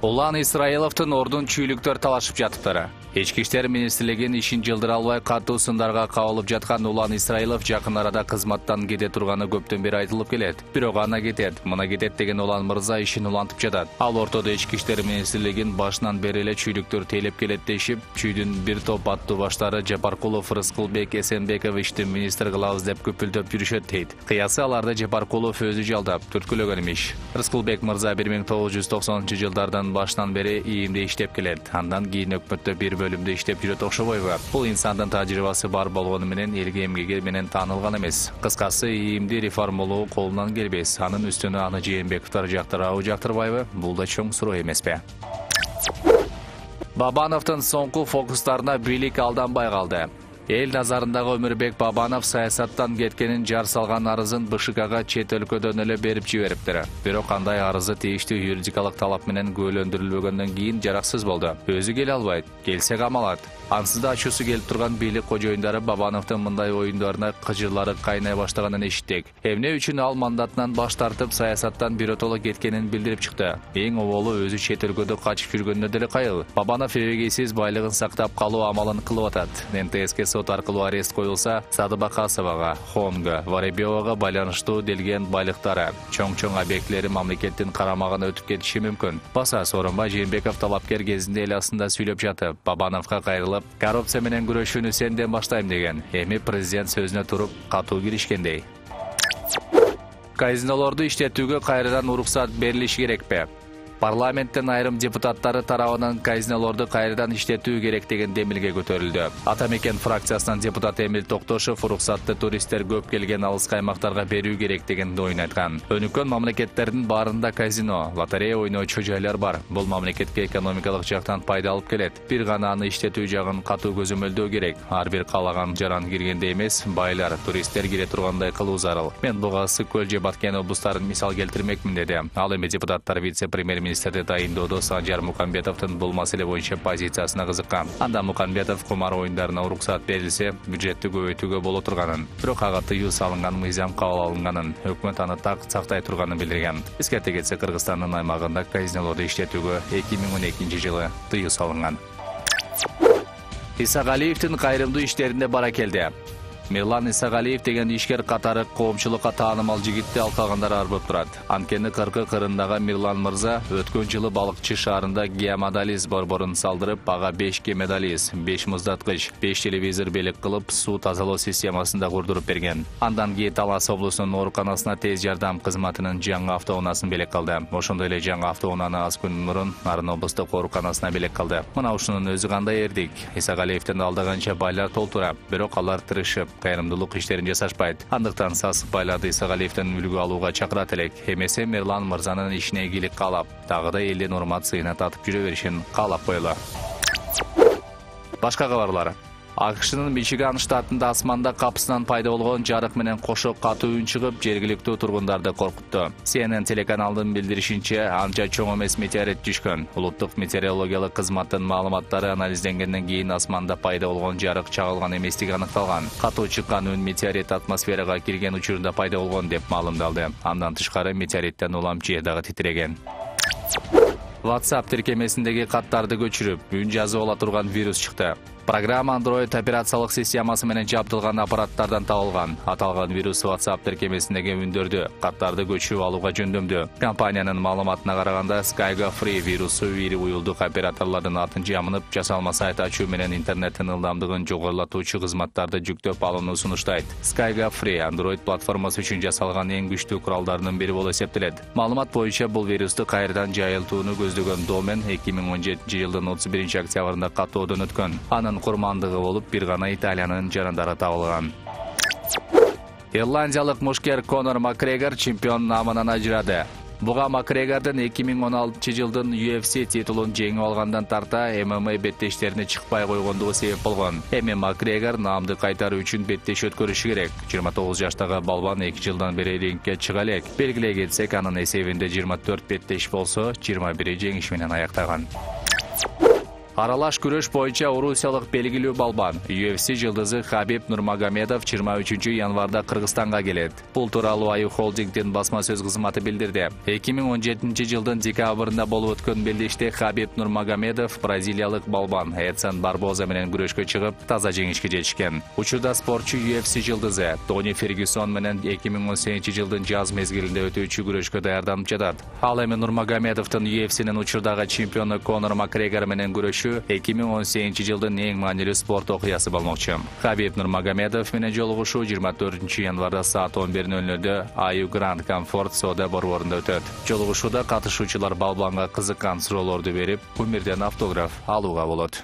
Улан Исраиловдун ордун чүйлүктөр талашып жатыптыр. Ички иштер министрлигинин ишин жылдыра албай катуу сындарга кабылып жаткан Улан Исраилов жакын арада кызматтан кете турганы көптөн бери айтылып келет. Бирок ана кетет, мына кетет деген Улан мырза ишин улантып жатат. Ал ортодо ички иштер министрлигинин башынан бери эле чүйлүктөр тейлеп келет дешип, чүйдүн бир топ аттуу баштары Жапаркулов, Рыскылбек Эсенбековичти министр кылабыз деп көпүлдөп жүрүшөт дейт. Кыясы аларды Жапаркулов өзү жалдап, түрткүлөгөн имиш. Рыскылбек мырза 1990-жылдардан башынан бери ИИМде иштеп келет. Андан кийин өкмөттө бир бөлүмдө иштеп жүрөт окшобойбу? Бул инсандын тажрыйбасы бар болгону менен элге эмгеги менен таанылган эмес. Кыскасы, ИИМди реформалоо колунан келбес. Анын үстүнө аны Жээнбековдор жактырабы, жактырбайбы? Бул да чоң суроо эмеспи? Бабановдун соңку фокустарына бийлик алданбай калды. Эл назарындагы Өмүрбек Бабанов саясаттан кеткенин жар салган арызын БШКга чет өлкөдөн эле берип жибериптир. Бирок кандай арызы тийиштүү юридикалык талап менен күбөлөндүрүлбөгөндөн кийин жараксыз болду. Өзү келе албайт, келсе камалат. Ансыз да ачуусу келип турган бийлик кожоюндары Бабановдун мындай оюндарына кыжырлары кайнай баштаганын эшиттик. Эмне үчүн ал мандатынан баш тартып саясаттан биротоло кеткенин билдирип чыкты. Эң оболу өзү чет өлкөдө качып жүргөнүнө деле кайыл. Бабанов эбегейсиз байлыгын сактап калуу амалын кылып атат. НТСК сот аркылуу арест коюлса, Садыбакасовага, Хонго, Воробьевага байланыштуу делген байлыктары, чоң-чоң объектилери мамлекеттин карамагына өтүп кетиши мүмкүн. Баса Сооронбай Жээнбеков талапкер кезинде эл астында сүйлөп жатып, Бабановго кайрылып, коррупция менен күрөшүүнү сенден баштайм деген. Эми президент сөзүнө туруп катуу киришкендей. Казинолорду иштетүүгө кайрадан уруксат берилиши керекпи? Парламенттин айрым депутаттары тарабынан казинолорду кайрадан иштетүү керек деген демилге көтөрүлдү. Атамекен фракциясынан депутат Эмил Токтошов уруксатты туристтер көп келген алыс аймактарга берүү керек деген оюн айткан. Өнүккөн мамлекеттердин баарында казино, лотерея ойночу жайлар бар. Бул мамлекетке экономикалык жактан пайда алып келет. Бир гана аны иштетүү жагын катуу көзөмөлдөө керек. Ар бир каалаган жаран киргенде эмес, байлар, туристтер кире тургандай кылуу зарыл. Мен буга Ысык көл же Баткен облустарын мисал келтирмекмин деди. Ал эми депутаттар вице-премьер министрди тайындоодо Санжар Мукамбетовдун бул маселе боюнча позициясына кызыккан. Анда Мукамбетов кумар оюндарына уруксат берилсе, бюджетти көбөйтүүгө боло турганын, бирок ага тыюу салынган, мыйзам кабыл алынганын, өкмөт аны так сактай турганын билдирген. Эскерте кетсе, Кыргызстандын аймагында казинолорду иштетүүгө 2012-жылы тыюу салынган. Исагалиевдин кайрымдуу иштеринде баракелде. Мирлан Исагалиев деген ишкер катары коомчулукка таанымал жигитти алкагандар арбып турат. Анткени кыркы кырындагы Мирлан мырза өткөн жылы балыкчы шаарында геомодализ борборун салдырып, ага 5 геомодализ, 5 муздаткыч, 5 телевизор белек кылып, суу тазалоо системасын да курдуруп берген. Андан кийин Талас облусунун ооруканасына тез жардам кызматынын жаңы автоунаасын белек калды. Ошондой эле жаңы автоунааны аз күн мурун Нарын облустук ооруканасына белек калды. Мына ушунун өзү кандай эрдик. Исагалиевдин алдаганча байлар толтура, бирок алар тырышып кайрымдуулук иштерин жасашпайт. Андыктан сасык байларды Исагалиевден үлгү алууга чакырат элек. Эмесе Мирлан мырзанын ишине ийгилик каалап, дагы да элдин урмат сыйына татып жүрө беришин каалап коелу. Башка кабарлар. АКШнын Мичиган штатында асманда капысынан пайда болгон жарык менен кошо катуу үн чыгып, жергиликтүү тургундарды коркутту. CNN телеканалдын билдиришинче, анча чоң эмес метеорит түшкөн. Улуттук метеорологиялык кызматтын маалыматтары анализденгенден кийин асманда пайда болгон жарык чагылган эместиги аныкталган. Катуу чыккан үн метеорит атмосферага кирген учурунда пайда болгон деп маалымдалды. Андан тышкары метеориттен улам жер дагы титиреген. WhatsApp тиркемесиндеги каттарды көчүрүп, үн жазып ала турган вирус чыкты. Программа Android операциялык системасы менен жабдылган аппараттардан табылган. Аталган вирус WhatsApp тиркемесиндеги үндөрдү, каттарды көчүрүп алууга жөндөмдү. Компаниянын маалыматына караганда, Skygo Free вирусу ири уюлдук операторлордун атын жамынып, жасалма сайт ачуу менен интернеттин ылдамдыгын жогорулатуучу кызматтарды жүктөп алууну сунуштайт. Skygo Free Android платформасы үчүн жасалган эң күчтүү куралдардын бири болуп эсептелет. Маалымат боюнча, бул вирусту кайрадан жайылтууну көздөгөн домен 2017-жылдын 31 октябрында каттоодон өткөн. Анын курмандыгы болуп, бир гана Италиянын жарандары табылган. Ирландиялык мушкер Конор Макгрегор чемпион намынан ажырады. Буга Макгрегордун 2016-жылдын UFC титулун жеңип алгандан тарта MMA беттештерине чыкпай койгондугу себеп болгон. Эми Макгрегор наамды кайтаруу үчүн беттеш өткөрүшү керек. 29 жаштагы балбан 2 жылдан бери рингке чыга элек. Белгилей кетсек, анын эсебинде 24 беттеш болсо, 21 жеңиш менен аяктаган. Аралаш күрөш боюнча орусиялык белгилүү балбан UFC жылдызы Хабиб Нурмагомедов 23 январда Кыргызстанга келет. Бул тууралуу Аю Холдингдин басма сөз кызматы билдирди. 2017 жылдын декабрында болуп өткөн белдеште Хабиб Нурмагомедов бразилиялык балбан Эдсон Барбоза менен күрөшкө чыгып, таза жеңишке жетишкен. Учурда спортчу UFC жылдызы Тони Фергюсон менен 2018 жылдын жаз мезгилинде өтүүчү күрөшкө даярданып жатат. Ал эми Нурмагомедовдун UFC'нин учурдагы чемпиону Конор Макгрегор менен күрөшү 2018 жылдын эң маанилүү спорт окуясы болмокчу. Хабиб Нурмагомедов менен жолугушуу 24 январда саат 11:00 Аю Гранд Комфорт соода борборунда өтөт. Жолугушууда катышуучулар балбанга кызыккан суроолорду берип, кумирден автограф алууга болот.